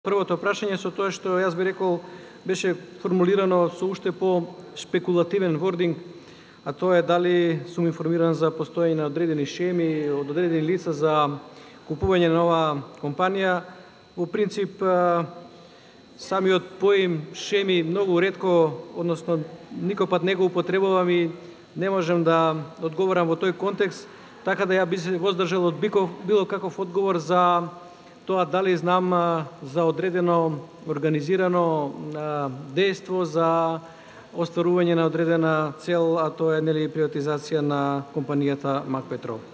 Првото прашање со тоа што јас би рекол беше формулирано со уште по шпекулативен вординг, а тоа е дали сум информиран за постоење на одредени шеми од одредени лица за купување на нова компанија. Во принцип, самиот поим шеми многу ретко, односно никој пат не го употребувам и не можам да одговорам во тој контекст, така да ја би се воздржал од било каков одговор за тоа дали знам за одредено организирано дејство за остварување на одредена цел, а тоа е приватизација на компанијата МАК Петрол.